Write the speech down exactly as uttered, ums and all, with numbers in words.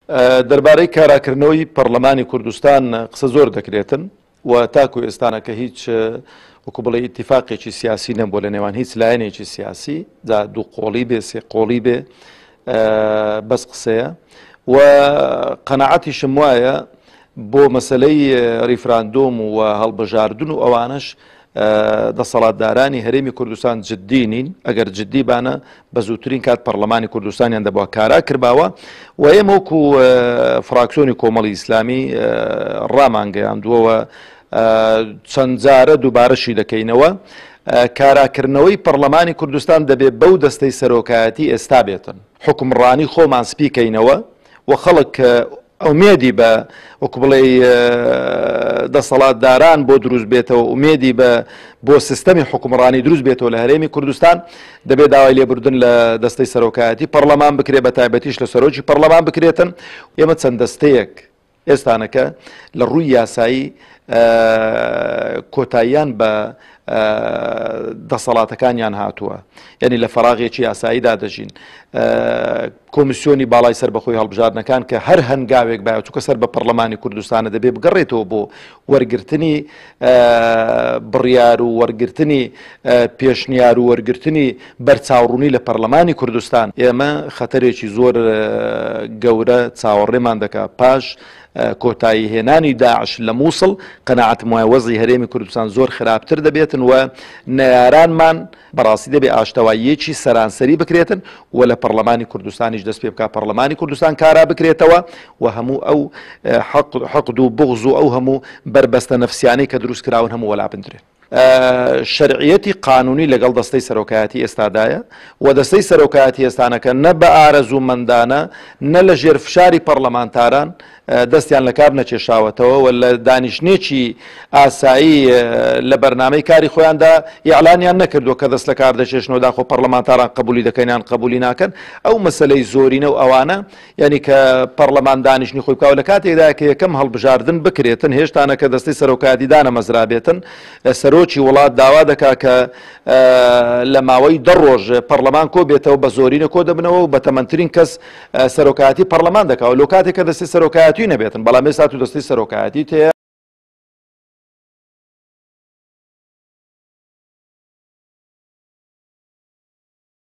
دەربارەی کاراکردنەوەی پەرلەمانی کوردستان قسە زۆر دەکرێتن و تاکو ئێستانە کە هیچ وەکو بڵێ ئیتیفاقێکی سیاسی نەبووە لە نێوان هیچ لایەنێکی سیاسی، جا دوو قۆڵی بێ سێ قۆڵی بێ بەس قسەیە. و قەناعەتیشم وایە بۆ مەسلەی ریفراندۆم و هەڵبژاردن و ئەوانش دەسەڵاتدارانی هەرێمی کوردستان جددی نین. ئەگەر جددی بانە بە زووترین کات پەرلەمانی کوردستانیان دەبووە کارا کردباوە. و ئێمە وەکو فراکسیۆنی کۆمەڵی ئیسلامی ڕامانگەیاندووەوە چەند جارە دووبارەشی دەکەینەوە، کاراکردنەوەی پەرلەمانی کوردستان دەبێت بەو دەستەی سەرۆکایەتی ئێستا بێتن، حکومڕانی خۆمان سپیکەینەوە و خەڵک ئومێدی بە وەکو بڵێ دەسەڵاتداران بۆ دروست بێتەوە، ئومێدی بە بۆ سیستەمی حکومڕانی دروست بێتەوە لە هەرێمی کوردستان، دەبێت داوای لێبوردن لە دەستەی سەرۆکایەتی پەرلەمان بکرێت، بە تایبەتیش لە سەرۆکی پەرلەمان بکرێتن. ئێمە چەند دەستەیەک ئێستانەکە لە ڕووی یاسایی کۆتاییان بە دەسەڵاتەکانیان هاتووە، یعنی لە فەراغێکی یاساییدا دەژین. کۆمیسیۆنی باڵای سەر بەخۆی هەڵبژاردنەکان کە هەر هەنگاوێک باە چووکە سەر بە پەرلەمانی کوردستانە دەبێ بگەڕێتەوە بۆ وەرگرتنی بڕیار و وەرگرتنی پێشنیار و وەرگرتنی بەرچاوڕوونی لە پەرلەمانی کوردستان. ئێمە خەتەرێکی زۆر گەورە چاوەڕێمان دەکات پاش کۆتایی هێنانی داعش لە مووسڵ. قەناعەتم وایە وەزعی هەرێمی کوردستان زۆر خراپتر دەبێتن و نەیارانمان بەڕاستی دەبێ ئاشتەواییەکی سەرانسەری بکرێتن و لە پەرلەمانی کوردستانیش دەست پێ بکات پەرلەمانی کوردستان کارا بکرێتەوە و هەموو ئەو حەقد و بغز و ئەو هەموو بەربەستە نەفسیانەی کە دروست کراون هەموو وەلا بندرێن. شەرعیەتی قانونی لەگەڵ دەستەی سەرۆکایەتی ئێستادایە و دەستەی سەرۆکایەتی ئێستانەکە نە بە ئارەزوومەندانە نە لە ژێر فشاری پەرلەمانتاران دەستیان لە کار نەکێشاوەتەوە و لە دانیشتنێکی ئاسایی لە بەرنامەی کاری خۆیاندا ئیعلانیان نەکردووە کە دەست لە کار دەکێشنەوە داخۆ پەرلەمانتاران قبولی دەکەن یان قبولی ناکەن. ئەو مەسلەی زۆرینە و ئەوانە یعنی کە پەرلەمان دانیشتنی خۆی بکاوە لە کاتێکدا کە یەکەم هەڵبژاردن بکرێتن، هێشتانە کە دەستەی سەرۆکایەتی دانەمەزرابێتن، سەرۆکی وڵات داوا دەکا کە لە ماوەی دە ڕۆژ پەرلەمان کۆ بێتەوە، بە زۆرینە کۆ دەبنەوە و بە تەمەنترین کەس سەرۆکایەتی پەرلەمان دەکاوە لۆ کاتێک کە دەستەی سەرۆکایەتی نەبێتن. بەڵام ئێستا تو دەستەی سەرۆکایەتی تەیە.